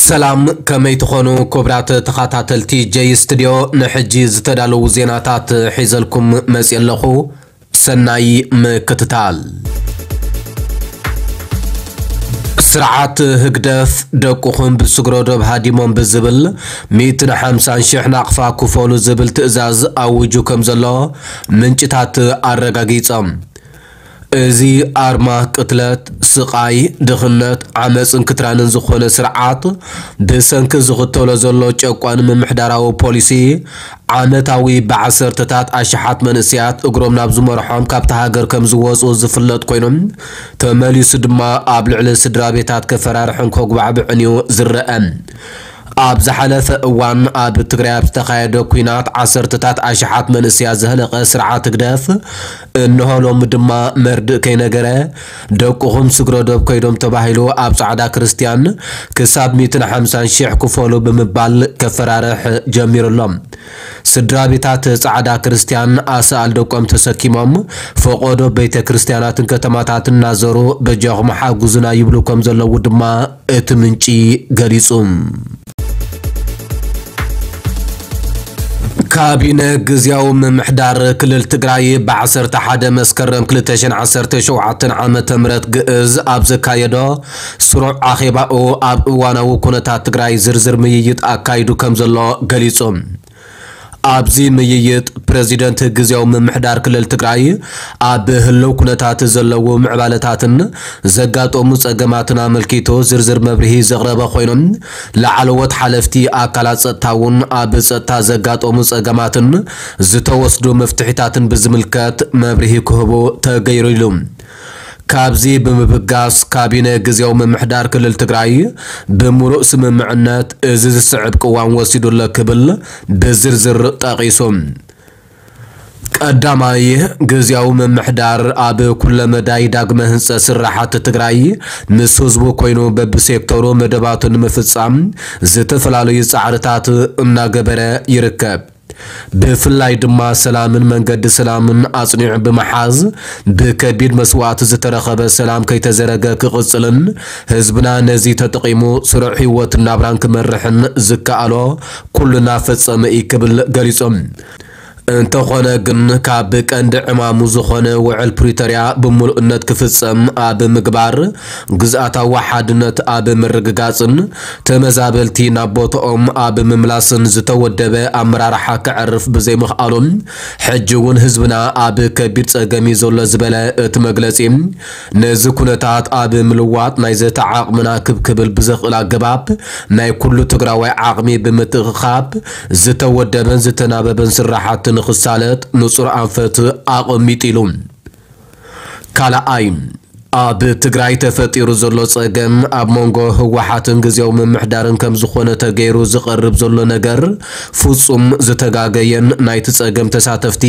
ሰላም፣ ከመይ ትኾኑ ክቡራት ተኸታተልቲ ጀይ ስቱድዮ? ንሕጂ ዝተዳለዉ ዜናታት ሒዘልኩም መፅእ ኣለኹ። ሰናይ ምክትታል። ስርዓት ህግደፍ ደቅኹም ብስግረዶብ ሃዲሞም ብዝብል ሚእትን ሓምሳን ሽሕ ናቕፋ ክፈሉ ዝብል ትእዛዝ ኣዊጁ ከም ዘሎ ምንጭታት ኣረጋጊጾም። እዚ ኣርማ ቅትለት፣ ስቓይ፣ ድኽነት፣ ዓመጽን ክትራንን ዝኾነ ስርዓት ብሰንኪ ዝኽተሎ ዘሎ ጨቋኒ ምምሕዳራዊ ፖሊሲ ዓመታዊ ብዓሰርተታት ኣሽሓት መንእሰያት እግሮም ናብ ዝመርሖም ካብታ ሃገር ከም ዝወጹ ዝፍለጥ ኮይኑ፣ ተመሊሱ ድማ ኣብ ልዕሊ ስድራ ቤታት ከፈራርሕን ከጉባዕብዕን እዩ ዝረአ። ኣብ ዝሓለፈ እዋን ኣብ ትግራይ ኣብ ዝተኻየደ ኲናት ዓሰርተታት ኣሽሓት መንእሰያት ዘህለቐ ስርዓት ህግደፍ፣ እንሆ ሎሚ ድማ መርድእ ከይነገረ ደቅኹም ስግረዶብ ከይዶም ተባሂሉ ኣብ ጻዕዳ ክርስትያን ክሳብ ሚእትን ሓምሳን ሽሕ ክፈሉ ብምባል ከፈራርሕ ጀሚሩ ኣሎ። ስድራ ቤታት ጻዕዳ ክርስትያን ኣሳእል ደቆም ተሰኪሞም ፈቆዶ ቤተ ክርስትያናትን ከተማታትን እናዘሩ በጃኹም ሓጉዙና ይብሉ ከም ዘለዉ ድማ እቲ ምንጪ ገሊጹ። ካቢነ ግዝያዊ ምምሕዳር ክልል ትግራይ ብዓሰርተ ሓደ መስከረም ክልተ ሽሕን ዓሰርተ ሸውዓተን ዓመተ ምህረት ግእዝ ኣብ ዘካየዶ ስሩዕ ኣኼባኡ ኣብ እዋናዊ ኩነታት ትግራይ ዝርዝር ምይይጥ ኣካይዱ ከም ዘሎ ገሊጹ። ኣብዚ ምይይጥ ፕረዚደንት ግዝያዊ ምምሕዳር ክልል ትግራይ ኣብ ህልው ኩነታት ዘለዉ ምዕባለታትን ዘጋጠሙ ጸገማትን ኣመልኪቱ ዝርዝር መብርሂ ዘቕረበ ኮይኑ፣ ላዕለዎት ሓለፍቲ ኣካላት ጸጥታ እውን ኣብ ጸጥታ ዘጋጠሙ ጸገማትን ዝተወስዱ መፍትሒታትን ብዝምልከት መብርሂ ክህቡ ተገይሩ ኢሉ። ካብዚ ብምብጋስ ካቢነ ግዝያዊ ምምሕዳር ክልል ትግራይ ብምሉእ ስምምዕነት እዚ ዝስዕብ ቅዋም ወሲዱ ኣሎ ክብል ብዝርዝር ጠቒሱ። ቀዳማይ፣ ግዝያዊ ምምሕዳር ኣብ ኩለ መዳይ ዳግመ ህንፀት ስራሓት ትግራይ ምስ ህዝቡ ኮይኑ በብሴክተሩ መደባቱ ንምፍፃም ዝተፈላለዩ ፃዕርታት እናገበረ ይርከብ። ብፍላይ ድማ ሰላምን መንገዲ ሰላምን ኣጽኒዑ ብምሓዝ፣ ብከቢድ መስዋእቲ ዝተረኸበ ሰላም ከይተዘረገ ክቕጽልን ህዝብና ነዚ ተጠቒሙ ስሩዕ ህይወትን ናብራን ክመርሕን ዝከኣሎ ኩሉ እናፈጸመ እዩ ክብል ገሊጾም። እንተኾነ ግን ካብ ቀንዲ ዕማሙ ዝኾነ ውዕል ፕሪቶርያ ብምሉእነት ክፍጸም ኣብ ምግባር፣ ግዝኣታዊ ሓድነት ኣብ ምርግጋጽን ተመዛበልቲ ናብ ቦታኦም ኣብ ምምላስን ዝተወደበ ኣመራርሓ ከዕርፍ ብዘይምኽኣሉ፣ ሕጂ እውን ህዝብና ኣብ ከቢድ ጸገም እዩ ዘሎ ዝበለ እቲ መግለጺ፣ ነዚ ኩነታት ኣብ ምልዋጥ ናይ ዘተ ዓቕምና ክብ ክብል ብዘኽእል ኣገባብ ናይ ኩሉ ትግራዋይ ዓቕሚ ብምትእኽኻብ ዝተወደበን ዝተናበበን ስራሓት ንኽሳለጥ ንጹር ኣንፈት ኣቐሚጡ ኢሉ። ካልኣይ፣ ኣብ ትግራይ ተፈጢሩ ዘሎ ጸገም ኣብ መንጎ ህወሓትን ግዝያዊ ምምሕዳርን ከም ዝኾነ ተገይሩ ዝቐርብ ዘሎ ነገር ፍጹም ዝተጋገየን ናይቲ ጸገም ተሳተፍቲ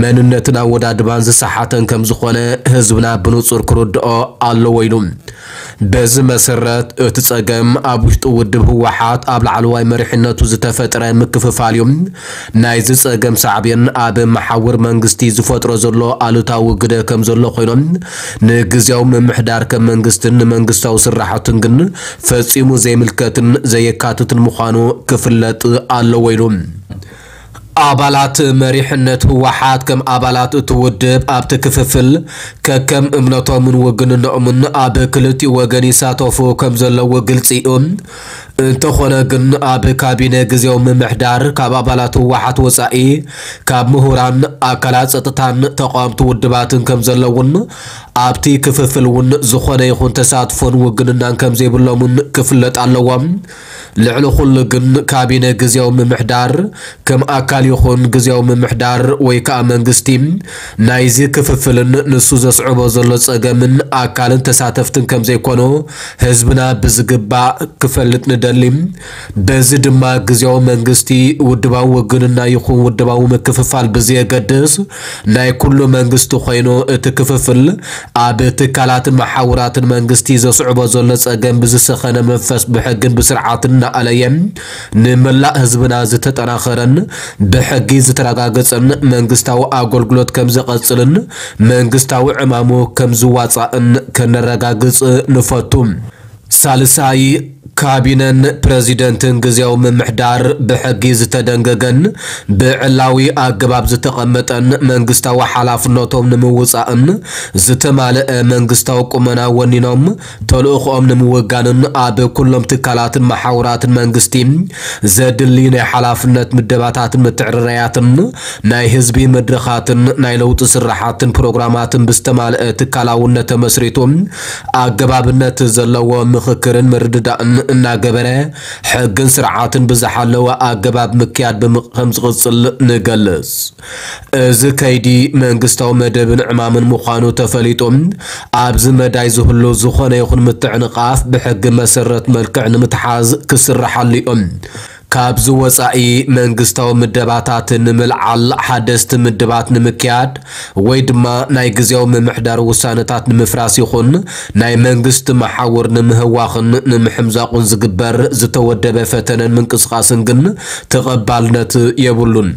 መንነትን ኣወዳድባን ዝሰሓተን ከም ዝኾነ ህዝብና ብንጹር ክርድኦ ኣለዎ ኢሉ። በዚ መሰረት እቲ ጸገም ኣብ ውሽጢ ውድብ ህወሓት ኣብ ላዕለዋይ መሪሕነቱ ዝተፈጥረ ምክፍፋል እዩ። ናይዚ ጸገም ሳዕቤን ኣብ መሓውር መንግስቲ ዝፈጥሮ ዘሎ ኣሉታዊ ግደ ከም ዘሎ ኮይኖም፣ ንግዝያዊ ምምሕዳር ከም መንግስትን ንመንግስታዊ ስራሕቱን ግን ፈጺሙ ዘይምልከትን ዘየካትትን ምዃኑ ክፍለጥ ኣለዎ ኢሉ። ኣባላት መሪሕነት ህወሓት ከም ኣባላት እቲ ውድብ ኣብቲ ክፍፍል ከከም እምነቶምን ውግንነኦምን ኣብ ክልቲኡ ወገን ይሳተፉ ከም ዘለዉ ግልጺ እዩ። እንተኾነ ግን ኣብ ካቢነ ግዝያዊ ምምሕዳር ካብ ኣባላት ህወሓት ወጻኢ ካብ ምሁራን፣ ኣካላት ጸጥታን ተቓወምቲ ውድባትን ከም ዘለዉን ኣብቲ ክፍፍል እውን ዝኾነ ይኹን ተሳትፎን ውግንናን ከም ዘይብሎምን ክፍለጥ ኣለዎ። ልዕሊ ኩሉ ግን ካቢነ ግዝያዊ ምምሕዳር ከም ኣካል ይኹን ግዝያዊ ምምሕዳር ወይ ከኣ መንግስቲ ናይዚ ክፍፍልን ንሱ ዘስዕቦ ዘሎ ጸገምን ኣካልን ተሳተፍትን ከም ዘይኮኑ ህዝብና ብዝግባእ ክፈልጥ ንደሊ። በዚ ድማ ግዝያዊ መንግስቲ ውድባዊ ውግንና ይኹን ውድባዊ ምክፍፋል ብዘየገድስ ናይ ኩሉ መንግስቲ ኮይኑ እቲ ክፍፍል ኣብ ትካላትን መሓውራትን መንግስቲ ዘስዕቦ ዘሎ ጸገም ብዝሰኸነ መንፈስ ብሕግን ብስርዓትን እናኣለየ ንመላእ ህዝብና ዝተጠናኸረን ብሕጊ ዝተረጋገጸን መንግስታዊ ኣገልግሎት ከም ዘቐጽልን መንግስታዊ ዕማሙ ከም ዝዋጻእን ከነረጋግጽ ንፈቱ። ሳልሳይ፣ ካቢነን ፕረዚደንትን ግዜያዊ ምምሕዳር ብሕጊ ዝተደንገገን ብዕላዊ ኣገባብ ዝተቐመጠን መንግስታዊ ሓላፍነቶም ንምውጻእን ዝተማልአ መንግስታዊ ቁመና ወኒኖም ተልእኾኦም ንምውጋንን ኣብ ኩሎም ትካላትን መሓውራትን መንግስቲ ዘድሊ ናይ ሓላፍነት ምደባታትን ምትዕርራያትን ናይ ህዝቢ መድረኻትን ናይ ለውጢ ስራሓትን ፕሮግራማትን ብዝተማልአ ትካላውነት ተመስሪቱ ኣገባብነት ዘለዎ ምኽክርን ምርድዳእን እናገበረ ሕግን ስርዓትን ብዝሓለወ ኣገባብ ምክያድ ብም-፣ ከም ዝቕጽል ንገልጽ። እዚ ከይዲ መንግስታዊ መደብን ዕማምን ምዃኑ ተፈሊጡ፣ ኣብዚ መዳይ ዝህሉ ዝኾነ ይኹን ምትዕንቓፍ ብሕጊ መሰረት መልክዕ ንምትሓዝ ክስርሓሉ እዩ። ካብዚ ወጻኢ መንግስታዊ ምደባታት ንምልዓል፣ ሓደስቲ ምድባት ንምክያድ ወይ ድማ ናይ ግዜያዊ ምምሕዳር ውሳነታት ንምፍራስ ይኹን ናይ መንግስቲ መሓውር ንምህዋኽን ንምሕምዛቑን ዝግበር ዝተወደበ ፈተነን ምንቅስቓስን ግን ተቐባልነት የብሉን።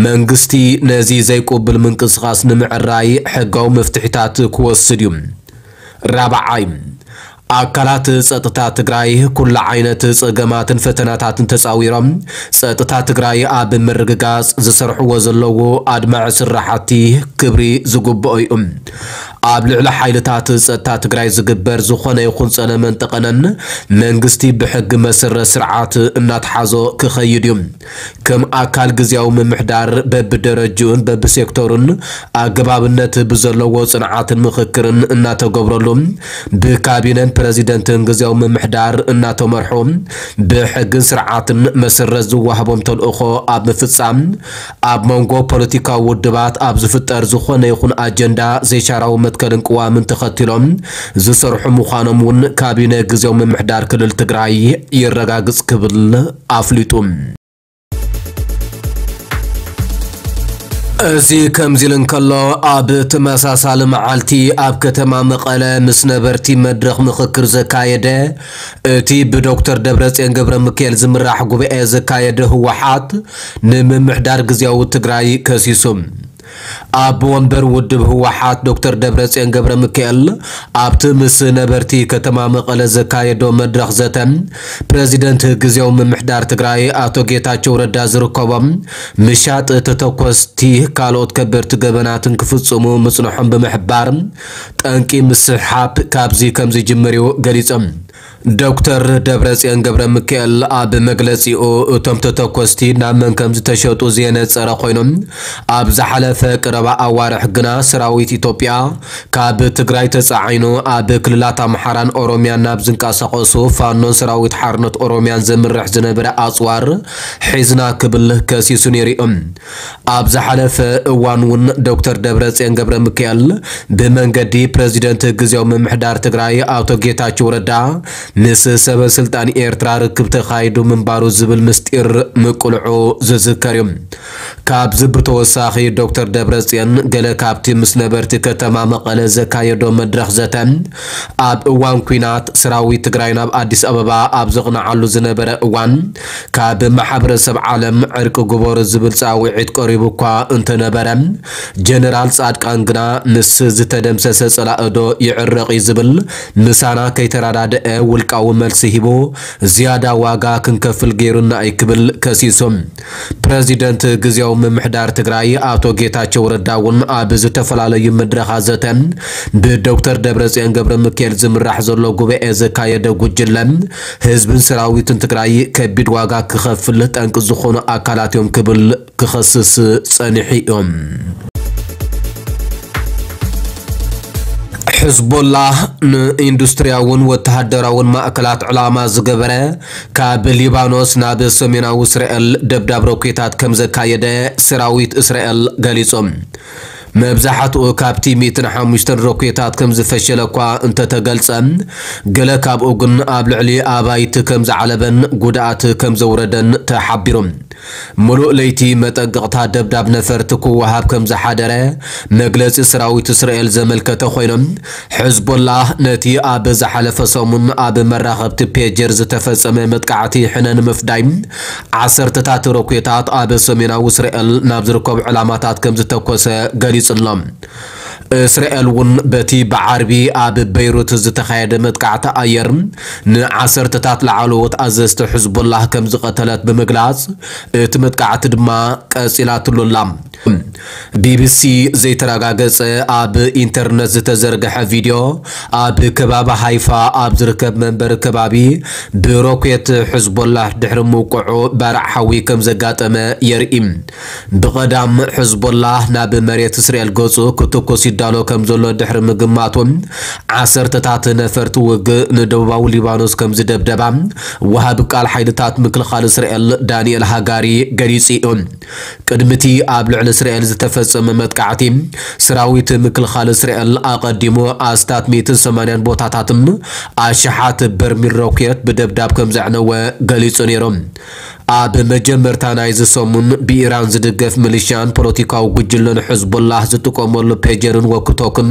መንግስቲ ነዚ ዘይቅቡል ምንቅስቓስ ንምዕራይ ሕጋዊ መፍትሒታት ክወስድ እዩ። ራብዓይ፣ ኣካላት ጸጥታ ትግራይ ኩሉ ዓይነት ጸገማትን ፈተናታትን ተጻዊሮም ጸጥታ ትግራይ ኣብ ምርግጋጽ ዝሰርሕዎ ዘለዉ ኣድማዒ ስራሕቲ ክብሪ ዝግብኦ እዩ። ኣብ ልዕሊ ሓይልታት ጸጥታ ትግራይ ዝግበር ዝኾነ ይኹን ጸለመን ጠቐነን መንግስቲ ብሕጊ መሰረት ስርዓት እናተሓዞ ክኸይድ እዩ። ከም ኣካል ግዜያዊ ምምሕዳር በብደረጅኡን በብሴክተሩን ኣገባብነት ብዘለዎ ጽንዓትን ምኽክርን እናተገብረሉ፣ ብካቢነን ፕረዚደንትን ግዜያዊ ምምሕዳር እናተመርሑ፣ ብሕግን ስርዓትን መሰረት ዝወሃቦም ተልእኾ ኣብ ምፍጻም፣ ኣብ መንጎ ፖለቲካዊ ውድባት ኣብ ዝፍጠር ዝኾነ ይኹን ኣጀንዳ ዘይሻራዊ መትከልን ቅዋምን ተኸቲሎም ዝሰርሑ ምዃኖም እውን ካቢነ ግዜያዊ ምምሕዳር ክልል ትግራይ የረጋግጽ ክብል ኣፍሊጡ። እዚ ከምዚ ኢሉ እንከሎ፣ ኣብ ተመሳሳሊ መዓልቲ ኣብ ከተማ መቐለ ምስ ነበርቲ መድረኽ ምኽክር ዘካየደ እቲ ብዶክተር ደብረጽዮን ገብረ ሚካኤል ዝምራሕ ጉባኤ ዘካየደ ህወሓት፣ ንምምሕዳር ግዜያዊ ትግራይ ከሲሱ። ኣቦ ወንበር ውድብ ህወሓት ዶክተር ደብረጽዮን ገብረ ሚካኤል ኣብቲ ምስ ነበርቲ ከተማ መቐለ ዘካየዶ መድረኽ ዘተ፣ ፕረዚደንት ግዜያዊ ምምሕዳር ትግራይ ኣቶ ጌታቸው ረዳ ዝርከቦም ምሻጥ ተተኮስቲ ካልኦት ከበድቲ ገበናትን ክፍጽሙ ምጽንሖም ብምሕባር፣ ጠንቂ ምስሕሓብ ካብዚ ከም ዝጅምር እዩ ገሊጾም። ዶክተር ደብረጽዮን ገብረ ሚካኤል ኣብ መግለጺኡ፣ እቶም ተተኮስቲ ናብ መን ከም ዝተሸጡ ዘየነጸረ ኮይኖም፣ ኣብ ዝሓለፈ ቀረባ ኣዋርሕ ግና ሰራዊት ኢትዮጵያ ካብ ትግራይ ተጻዒኑ ኣብ ክልላት ኣምሓራን ኦሮሚያን ናብ ዝንቀሳቐሱ ፋኖን ሰራዊት ሓርነት ኦሮሚያን ዘምርሕ ዝነበረ ኣጽዋር ሒዝና ክብል ከሲሱ ነይሩ እዩ። ኣብ ዝሓለፈ እዋን እውን ዶክተር ደብረጽዮን ገብረ ሚካኤል ብመንገዲ ፕረዚደንት ግዜያዊ ምምሕዳር ትግራይ ኣቶ ጌታቸው ረዳ ምስ ሰበ ስልጣን ኤርትራ ርክብ ተኻይዱ ምንባሩ ዝብል ምስጢር ምቅልዑ ዝዝከር እዩ። ካብዚ ብተወሳኺ ዶክተር ደብረጽዮን ገለ ካብቲ ምስ ነበርቲ ከተማ መቐለ ዘካየዶ መድረኽ ዘተ፣ ኣብ እዋን ኲናት ሰራዊት ትግራይ ናብ ኣዲስ ኣበባ ኣብ ዘቕንዓሉ ዝነበረ እዋን፣ ካብ ማሕበረሰብ ዓለም ዕርቂ ግበሩ ዝብል ጻውዒት ቀሪቡ እኳ እንተነበረ፣ ጀነራል ጻድቃን ግና ምስ ዝተደምሰሰ ጸላእዶ ይዕረቕ እዩ ዝብል ምሳና ከይተረዳደአ ውልቃዊ መልሲ ሂቡ፣ ዝያዳ ዋጋ ክንከፍል ገይሩና እዩ ክብል ከሲሱ። ፕረዚደንት ግዜያዊ ምምሕዳር ትግራይ ኣቶ ጌታቸው ረዳ እውን ኣብ ዝተፈላለዩ መድረኻት ዘተ ብዶክተር ደብረጽዮን ገብረ ሚካኤል ዝምራሕ ዘሎ ጉባኤ ዘካየደ ጉጅለ፣ ህዝብን ሰራዊትን ትግራይ ከቢድ ዋጋ ክኸፍል ጠንቂ ዝኾኑ ኣካላት እዮም ክብል ክኸስስ ጸኒሑ እዮም። ሕዝቦላህ ንኢንዱስትሪያውን ወተሃደራውን ማእከላት ዕላማ ዝገበረ ካብ ሊባኖስ ናብ ሰሜናዊ እስራኤል ደብዳብ ሮኬታት ከም ዘካየደ ሰራዊት እስራኤል ገሊጹ። መብዛሕትኡ ካብቲ ሚእትን ሓሙሽተን ሮኬታት ከም ዝፈሸለ እኳ እንተተገልጸ፣ ገለ ካብኡ ግን ኣብ ልዕሊ ኣባይቲ ከም ዝዓለበን ጉድኣት ከም ዘውረደን ተሓቢሩ። ምሉእ ለይቲ መጠንቀቕታ ደብዳብ ነፈርቲ ክወሃብ ከም ዝሓደረ መግለጺ ሰራዊት እስራኤል ዘመልከተ ኮይኖም፣ ሕዝቦላህ ነቲ ኣብ ዝሓለፈ ሰሙን ኣብ መራኸብቲ ፔጀር ዝተፈጸመ መጥቃዕቲ ሕነ ንምፍዳይ ዓሰርተታት ሮኬታት ኣብ ሰሜናዊ እስራኤል ናብ ዝርከቡ ዕላማታት ከም ዝተኮሰ ገሊጹ ኣሎ። እስራኤል እውን በቲ ብዓርቢ ኣብ በይሩት ዝተኻየደ መጥቃዕቲ ኣየር ንዓሰርተታት ላዕለዎት ኣዘዝቲ ሕዝቦላህ ከም ዝቐተለት ብምግላጽ፣ እቲ መጥቃዕቲ ድማ ቀጺላትሉ ኣላ። ቢቢሲ ዘይተረጋገጸ ኣብ ኢንተርነት ዝተዘርግሐ ቪድዮ፣ ኣብ ከባቢ ሃይፋ ኣብ ዝርከብ መንበሪ ከባቢ ብሮኬት ሕዝቦላህ ድሕሪ ምውቅዑ ባርዕ ሓዊ ከም ዘጋጠመ የርኢ። ብቐዳም ሕዝቦላህ ናብ መሬት እስራኤል ገጹ ክትኩስ ይዳሎ ከም ዘሎ ድሕሪ ምግማቱ፣ ዓሰርተታት ነፈርቲ ውግእ ንደቡባዊ ሊባኖስ ከም ዝደብደባ ወሃቢ ቃል ሓይልታት ምክልኻል እስራኤል ዳንኤል ሃጋሪ ገሊጹ እዩ። ቅድሚቲ ኣብ ልዕሊ እስራኤል ዝተፈጸመ መጥቃዕቲ፣ ሰራዊት ምክልኻል እስራኤል ኣቐዲሙ ኣስታት ሚእትን ሰማንያን ቦታታትን ኣሽሓት በርሚል ሮኬት ብደብዳብ ከም ዘዕነወ ገሊጹ ነይሩ። ኣብ መጀመርታ ናይዚ ሰሙን ብኢራን ዝድገፍ ሚሊሻን ፖለቲካዊ ጉጅለን ሕዝቦላህ ዝጥቀመሉ ፔጀርን ወክቶክን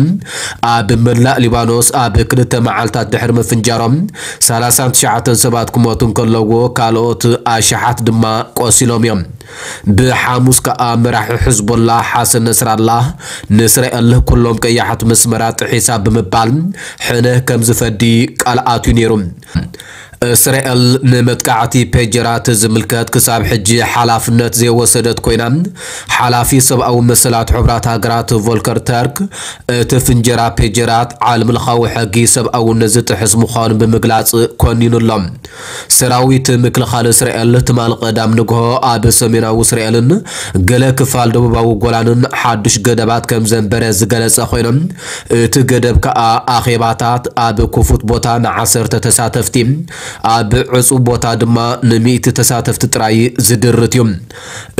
ኣብ መላእ ሊባኖስ ኣብ ክልተ መዓልታት ድሕሪ ምፍንጃሮም ሰላሳን ትሽዓተን ሰባት ክሞቱ እንከለዎ ካልኦት ኣሽሓት ድማ ቆሲሎም እዮም። ብሓሙስ ከኣ መራሒ ሕዝቦላህ ሓሰን ነስራላህ ንእስራኤል ኩሎም ቀያሕቲ መስመራት ጥሒሳ ብምባል ሕነ ከም ዝፈዲ ቃል ኣትዩ ነይሩ። እስራኤል ንመጥቃዕቲ ፔጀራት ዝምልከት ክሳብ ሕጂ ሓላፍነት ዘይወሰደት ኮይና፣ ሓላፊ ሰብኣዊ መሰላት ሕቡራት ሃገራት ቮልከር ተርክ እቲ ፍንጀራ ፔጀራት ዓለምለኻዊ ሕጊ ሰብኣውነት ዝጥሕስ ምዃኑ ብምግላጽ ኮኒኑ ኣሎ። ሰራዊት ምክልኻል እስራኤል ትማል ቀዳም ንግሆ ኣብ ሰሜናዊ እስራኤልን ገለ ክፋል ደቡባዊ ጎላንን ሓዱሽ ገደባት ከም ዘንበረ ዝገለጸ ኮይኖም፣ እቲ ገደብ ከኣ ኣኼባታት ኣብ ክፉት ቦታ ንዓሰርተ ተሳተፍቲ፣ ኣብ ዕጹው ቦታ ድማ ንሚእቲ ተሳተፍቲ ጥራይ ዝድርት እዩ።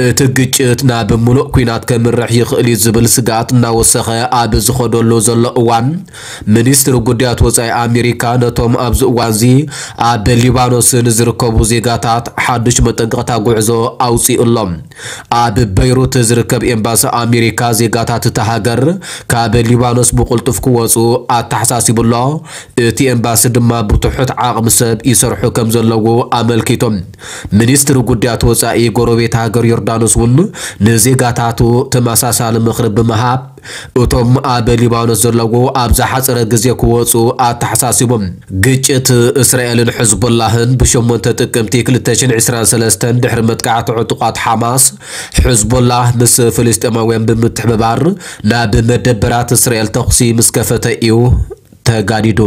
እቲ ግጭት ናብ ምሉእ ኲናት ከምርሕ ይኽእል እዩ ዝብል ስግኣት እናወሰኸ ኣብ ዝኸደሉ ዘሎ እዋን፣ ሚኒስትሪ ጉዳያት ወጻኢ ኣሜሪካ ነቶም ኣብዚ እዋንዚ ኣብ ሊባኖስ ንዝርከቡ ዜጋታት ሓዱሽ መጠንቀቕታ ጉዕዞ ኣውጺኡ ኣሎ። ኣብ በይሩት ዝርከብ ኤምባሲ ኣሜሪካ ዜጋታት እታ ሃገር ካብ ሊባኖስ ብቕልጡፍ ክወጹ ኣተሓሳሲቡ ኣሎ። እቲ ኤምባሲ ድማ ብትሑት ዓቕሚ ሰብ ይሰርሑ ከም ዘለዉ ኣመልኪቶም። ሚኒስትሪ ጉዳያት ወጻኢ ጎረቤት ሃገር ዮርዳኖስ እውን ንዜጋታቱ ተመሳሳሊ ምኽሪ ብምሃብ፣ እቶም ኣብ ሊባኖስ ዘለዉ ኣብ ዝሓጸረ ግዜ ክወጹ ኣተሓሳሲቦም። ግጭት እስራኤልን ሕዝቦላህን ብሸሞንተ ጥቅምቲ ክልተ ሽሕን ዕስራን ሰለስተን ድሕሪ መጥቃዕቲ ዕጡቓት ሓማስ፣ ሕዝቦላህ ምስ ፍልስጤማውያን ብምትሕብባር ናብ መደበራት እስራኤል ተኹሲ ምስ ከፈተ እዩ ተጋዲዱ።